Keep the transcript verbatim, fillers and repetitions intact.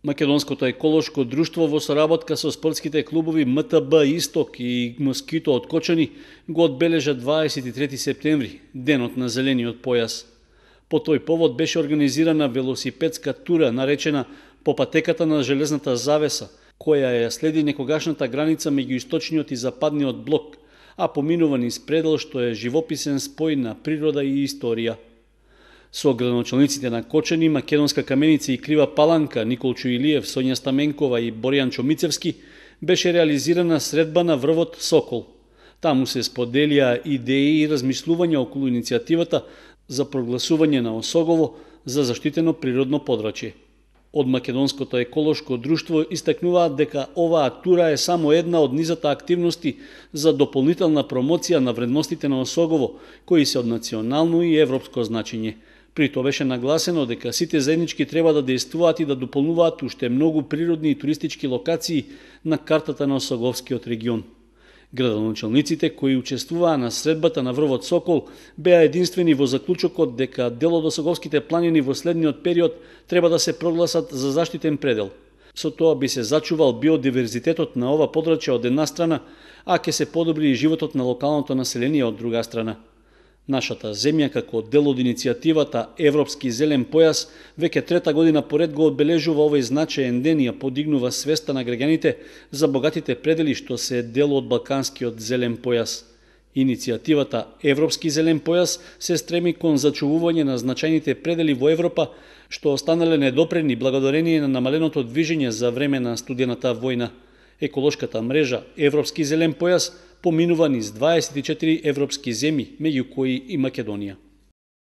Македонското еколошко друштво во соработка со спортските клубови М Т Б Исток и Москито од Кочани го одбележа дваесет и трети септември, денот на зелениот појас. По тој повод беше организирана велосипедска тура наречена по патеката на железната завеса, која ја следи некогашната граница меѓу источниот и западниот блок, а поминува низ предел што е живописен спој на природа и историја. Со градоначалниците на Кочани, Македонска Каменица и Крива Паланка, Николчо Илиев, Сонја Стаменкова и Боријан Чомицевски, беше реализирана средба на врвот Сокол. Таму се споделија идеи и размислувања околу иницијативата за прогласување на Осогово за заштитено природно подрачје. Од Македонското еколошко друштво истакнуваат дека оваа тура е само една од низата активности за дополнителна промоција на вредностите на Осогово, кои се од национално и европско значење. При тоа беше нагласено дека сите заеднички треба да дејствуваат и да дополнуваат уште многу природни и туристички локации на картата на Осоговскиот регион. Градоначалниците кои учествуваа на средбата на врвот Сокол беа единствени во заклучокот дека дел од Осоговските планини во следниот период треба да се прогласат за заштитен предел. Со тоа би се зачувал биодиверзитетот на ова подрачје од една страна, а ќе се подобри и животот на локалното население од друга страна. Нашата земја, како дел од иницијативата Европски зелен појас, веќе трета година поред го одбележува овој значаен ден и ја подигнува свеста на граѓаните за богатите предели што се дел од Балканскиот зелен појас. Иницијативата Европски зелен појас се стреми кон зачувување на значајните предели во Европа, што останале недопрени благодарение на намаленото движење за време на студената војна. Еколошката мрежа Европски зелен појас поминува низ дваесет и четири европски земји, меѓу кои и Македонија.